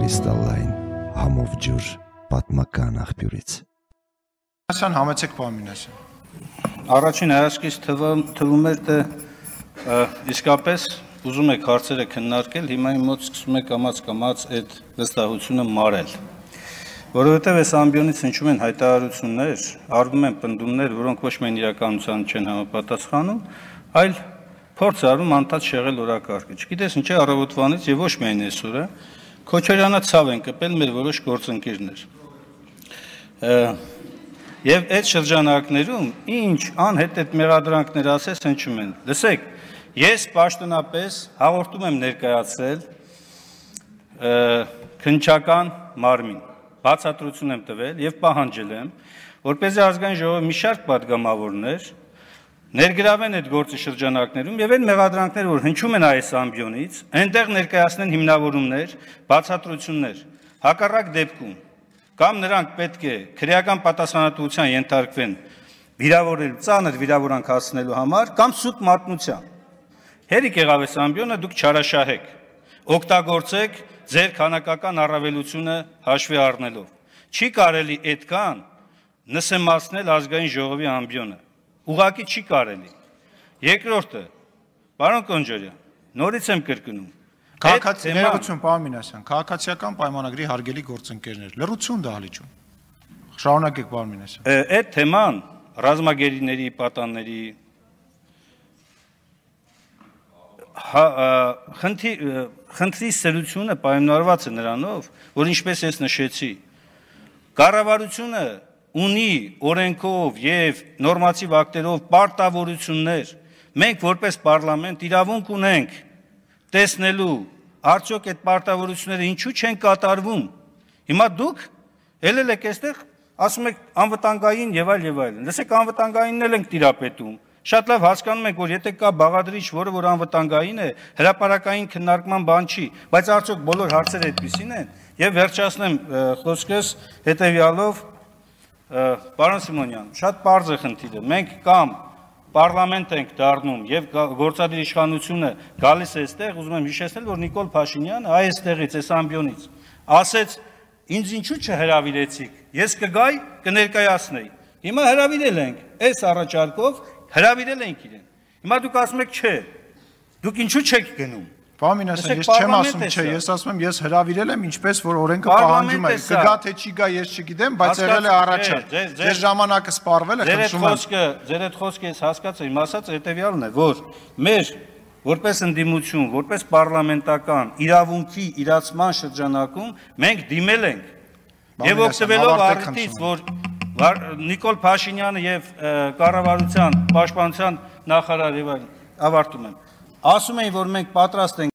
Կրիստալային համով ջուր պատմական աղբյուրից։ Ասան համեցեք պարմինասան։ Առաջին հայացքից թվում էր, թե իսկապես ուզում եք հարցերը քննարկել, հիմա իմ մոտ սկսում եք կամաց այդ վստահությունը մարել։ Որովհետև այս ամբիոնից հնչում են հայտարարություններ, արվում են պնդումներ, որոնք ոչ միայն իրականության չեն համապատասխանում, այլ փորձ արվում անդադ շեղել օրակարգը։ Չգիտես ինչ է առավոտվանից եւ ոչ միայն այսօր, Քոչարյանը ցավ են կպել մեր որոշ գործընկերներ։ Եվ այդ շրջանակներում ինչ անհետ մեղադրանքներ ասես հնչում են։ Լսեք, ես պաշտոնապես հաղորդում եմ ներկայացրել քննչական մարմին, բացատրություն եմ տվել եւ պահանջել եմ, որպեսզի ազգային ժողովի մի շարք պատգամավորներ ներգրավեն այդ գործի շրջանակներում եւ այն մեղադրանքները, որ հնչում են այս ամբիոնից, այնտեղ ներկայացնեն հիմնավորումներ, բացատրություններ։ Հակառակ դեպքում կամ նրանք պետք է քրեական պատասխանատվության ենթարկվեն վիրավորել ծանր վիրավորանք հասցնելու համար կամ սուտ մատնության։ Հերիք եղավ այս ամբիոնը, դուք չարաշահեք, օգտագործեք ձեր քանակական առավելությունը հաշվի առնելով։ Չի կարելի այդքան նսեմացնել ազգային ժողովի ամբիոնը։ Ուղղակի չի կարելի։ Երկրորդը, պարոն Կոնջարյան, նորից եմ կրկնում։ Քաղաքացիական պարմինասան, քաղաքացիական պայմանագրի հարգելի գործընկերներ, լրություն դահլիճում։ Շարունակեք պարմինասան։ Այդ թեման ռազմագերիների, պատանների խնդրի սերությունը պայմանավորված է նրանով, որ ինչպես ես նշեցի, կառավարությունը ունի օրենքով եւ նորմատիվ ակտերով պարտավորություններ, մենք որպես պարլամենտ իրավունք ունենք տեսնելու արդյոք այդ պարտավորությունները ինչու չեն կատարվում։ Հիմա դուք ելել եք այստեղ, ասում եք անվտանգային եւ այլն։ Լսեք, անվտանգայինն էլ ենք տիրապետում։ Շատ լավ հասկանում եք, որ եթե կա բաղադրիչ, որը որ անվտանգային է, հրապարակային քննարկման բան չի, բայց արդյոք բոլոր հարցերը այդպիսին են։ Եվ վերջացնեմ խոսքս հետեւյալով, պարոն Սիմոնյան, շատ պարզ է խնդիրը։ Մենք կամ պարլամենտ ենք դառնում եւ գործադիր իշխանությունը գալիս է այստեղ, ուզում եմ հիշեցնել, որ Նիկոլ Փաշինյանը այստեղից, այս ամբիոնից ասեց, ինձ ինչու չհրավիրեցիք, ես կգայի, կներկայացնեի։ Հիմա հրավիրել ենք, այս առաջարկով հրավիրել ենք իրեն։ Հիմա դուք ասում եք չէ, դուք ինչու չեք գնում։ Պարմինասան, ես չեմ ասում չէ, ես ասում եմ ես հրավիրել եմ ինչպես որ օրենքը պահանջում է։ Կգա թե չի գա ես չգիտեմ, բայց եղել է առաջարկ։ Ձեր ժամանակը սպառվել է, խնդրում եմ։ Ձեր այդ խոսքը ես հասկացա, իմ ասած հետեւյալն է, որ մեր որպես ընդդիմություն, որպես պարլամենտական իրավունքի իրացման շրջանակում մենք դիմել ենք եւ օգտվելով առիթից, որ Նիկոլ Փաշինյանը եւ կառավարության պաշտպանության նախարարը ավարտում եմ։ Ասում էին, որ մենք պատրաստ ենք